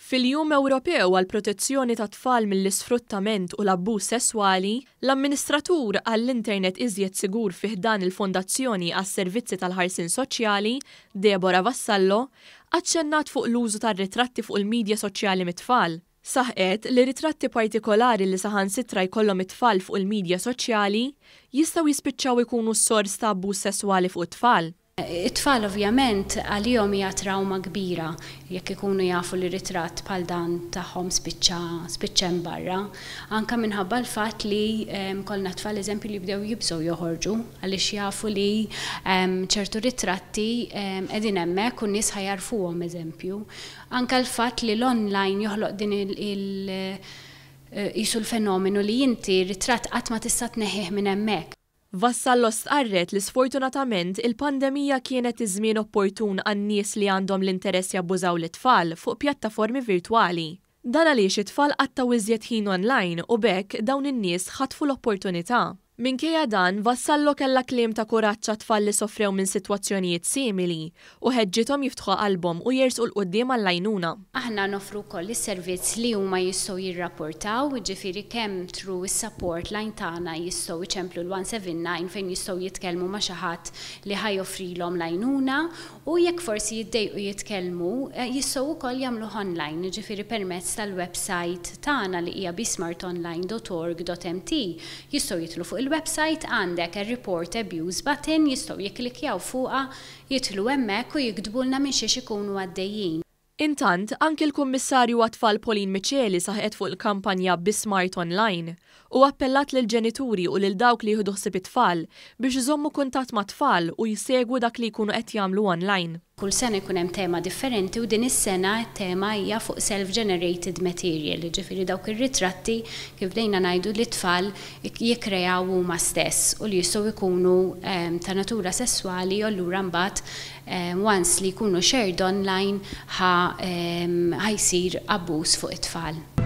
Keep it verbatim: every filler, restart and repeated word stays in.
Fil-Jum Ewropew għall-Protezzjoni tat-Tfal mill-Isfruttament u l-Abbuż Sesswali, l-Amministratur għall-Internet Iżjed Sigur fi ħdan il-Fondazzjoni għas-Servizzi tal-Ħarsien Soċjali, Deborah Vassallo, aċċennat fuq l-użu tar-ritratti fuq il-midja soċjali mit-tfal. Saħqet li ritratti partikolari li saħansitra jkollhom it-tfal fuq il-midja soċjali jistgħu jispiċċaw ikunu s-sors ta' abbuż sesswali fuq it-tfal. It-tfal ovvjament għalihom hija trauma kbira jekk ikunu jafu li ritratt bħal dan tagħhom spiċċa spiċċa barra. Anka minħabba l-fatt li kellna tfal, eżempju, li bdew jibżgħu joħorġu għaliex jafu li ċertu ritratti qegħdin hemmhekk u n-nies ħa jagħrfuhom, eżempju. Anka l-fatt li l-online joħloq din il- qisu l-fenomenu li inti ritratt qatt ma tista' tneħħih minn hemmhekk. Vassallo stqarret li sfortunatament il-pandemija kienet iż-żmien opportun għan-nies li għandhom l-interess jabbużaw l-tfal fuq pjattaformi virtwali. Dan għaliex it-tfal qattgħu iżjed ħin online u b'hekk dawn in-nies ħatfu l-opportunità. Minkejja dan, Vassallo kellha kliem ta' kuraġġ għat-tfal li sofrew minn sitwazzjonijiet simili u ħeġġithom jiftħu qalbhom u jersqu 'l quddiem għall-għajnuna. Aħna noffru wkoll is-servizz li huma jistgħu jirrapportaw, ġifieri kemm through is-support line tagħna jistgħu iċemplu l-one seven nine fejn jistgħu jitkellmu ma' xi ħadd li ħa joffrilhom l-għajnuna, u jekk forsi jiddejqu jitkellmu, eh, jistgħu wkoll jagħmlu online, ġifieri permezz tal-website tagħna li hija besmartonline dot org dot M T. Jistgħu jitilgħu fuq il-website, għandek il-report abuse button, jistgħu jikklikjaw fuqha, jitilgħu hemmhekk u jiktbulna minn xiex ikunu għaddejjin. Intant, anki l-Kummissarju għat-Tfal Pauline Miceli saħqet fuq il-kampanja Be Smart Online u appellat lil ġenituri u lil dawk li jieħdu ħsieb it-tfal biex iżommu kuntatt mat-tfal u jsegwu dak li jkunu qed jagħmlu online. Kull sena jkun hemm tema differenti u din is-sena t-tema hija fuq self-generated material, ġifieri dawk ir-ritratti, kif bdejna ngħidu, li tfal jikkreaw huma stess u li jistgħu jkunu ehm, ta' natura sesswali, u allura mbagħad ehm, once li jkunu shared online ħa ehm, ħa jsir abbuż fuq it-tfal.